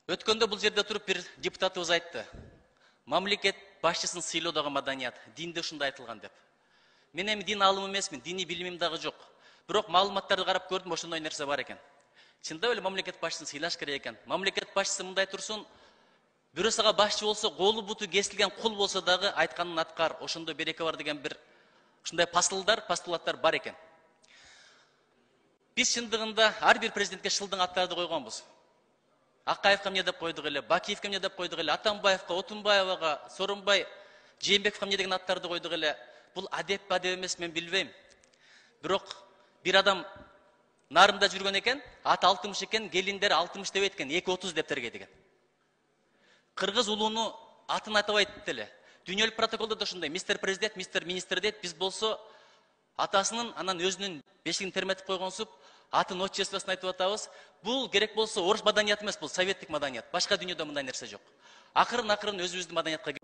Өткөндө бул жерде туруп бир депутатыбыз айтты. Мамлекет башчысын сыйлоо дагы маданият, динде ушундай айтылган деп. Мен эми дин алымы эмесмин, диний билимим дагы жок. Бирок маалыматтарды карап көрдүм, ошондой нерсе бар экен. Чындап эле мамлекет башчысын сыйлаш керек экен. Мамлекет башчысы мындай турсун, бирөөсүгө башчы болсо, колу буту кесилген кул болсо дагы айтканын аткар, ошондой береке бар деген бир ушундай постулаттар бар экен. Биз чындыгында ар бир президентке шылдың аттарды койгонбуз. Акаевка эмне деп койдук эле, Бакиевке эмне деп койдук эле, Атамбаевка, Отунбаевага, Сооронбай Жээнбековго эмне деген аттарды койдук эле. Бул адеп эмес, мен билбейм. Бирок бир адам нарында жүргөн экен, аты 60 экен, келиндери 60 дебейт экен, 230 деп тергейт. Кыргыз улууну атын атабайт эле. Дүйнөлүк протоколдо да ушундай, мистер президент, мистер министр дейт. Биз болсо атасынын, анан өзүнүн бешигин терметип койгонсуп, атын отчествосын айтып атабыз. Бул керек болсо орус маданияты эмес, бул советтик маданият. Башка дүйнөдө мындай нерсе жок. Акырын өзүбүздүн маданиятка